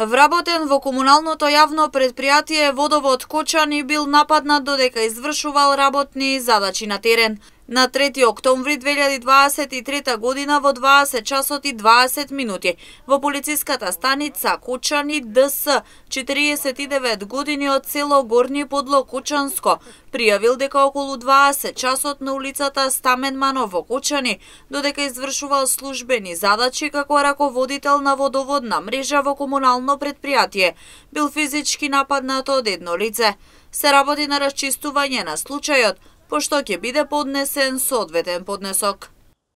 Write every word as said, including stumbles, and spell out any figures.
Вработен во комуналното јавно предпријатие Водовод Кочани бил нападнат додека извршувал работни задачи на терен. На трети октомври две илјади дваесет и трета година во дваесет часот и дваесет минути во полициската станица Кочани ДС, четириесет и девет години од село Горни Подло Кочанско, пријавил дека околу дваесет часот на улицата Стамен Манов во Кочани, додека извршувал службени задачи како раководител на водоводна мрежа во комунално предпријатие, бил физички нападнат од едно лице. Се работи на расчистување на случајот, пошто ќе биде поднесен соодветен поднесок.